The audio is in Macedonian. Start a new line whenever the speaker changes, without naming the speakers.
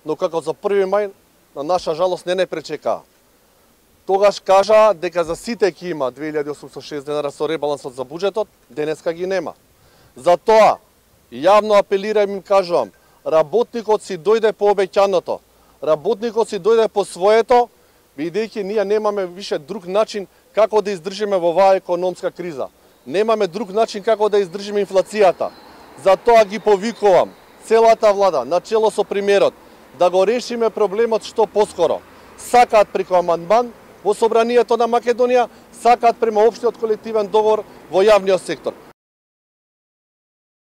но како за 1 мај, на наша жалост не пречекаа. Тогаш кажа дека за сите ќе има 2806 денари со ребалансот за буџетот, денеска ги нема. Затоа, јавно апелирам и им кажувам, работникот си дојде по обеќаното, работникот си дојде по своето, бидејќи ние немаме више друг начин како да издржиме во оваа економска криза. Немаме друг начин како да издржиме инфлацијата. Затоа ги повикувам целата влада, начело со премиерот, да го решиме проблемот што поскоро. Сакаат преку амандман во Собранието на Македонија, сакаат према општиот колективен договор во јавниот сектор.